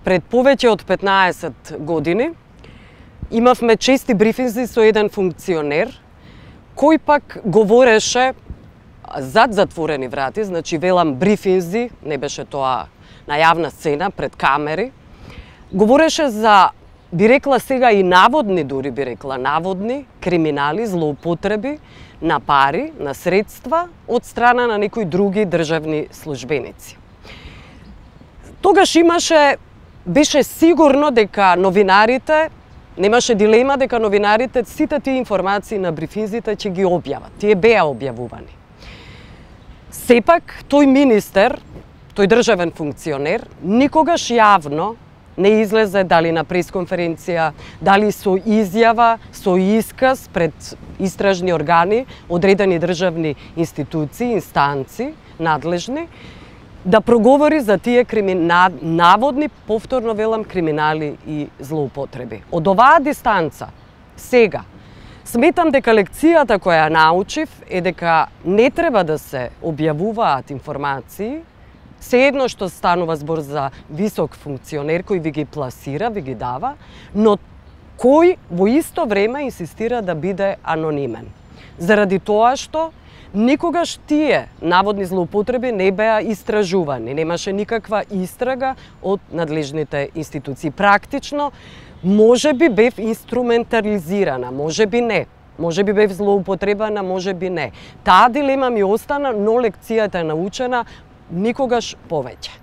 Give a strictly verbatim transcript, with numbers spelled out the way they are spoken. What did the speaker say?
Пред повеќе од петнаесет години имавме чести брифинзи со еден функционер кој пак говореше зад затворени врати, значи велам брифинзи, не беше тоа на јавна сцена пред камери. Говореше за, би рекла сега и наводни, дури би рекла наводни криминали, злоупотреби на пари, на средства од страна на некои други државни службеници. Тогаш имаше Беше сигурно дека новинарите, немаше дилема дека новинарите сите тие информации на брифинзите ќе ги објават. Тие беа објавувани. Сепак, тој министер, тој државен функционер, никогаш јавно не излезе дали на пресконференција, дали со изјава, со исказ пред истражни органи, одредени државни институции, инстанци, надлежни, да проговори за тие кримина... наводни, повторно велам, криминали и злоупотреби. Од оваа дистанца, сега, сметам дека лекцијата која ја научив е дека не треба да се објавуваат информации, се едно што станува збор за висок функционер кој ви ги пласира, ви ги дава, но кој во исто време инсистира да биде анонимен. Заради тоа што никогаш тие наводни злоупотреби не беа истражувани, немаше никаква истрага од надлежните институции. Практично, може би бев инструментализирана, може би не. Може би бев злоупотребана, може би не. Таа дилема ми остана, но лекцијата е научена никогаш повеќе.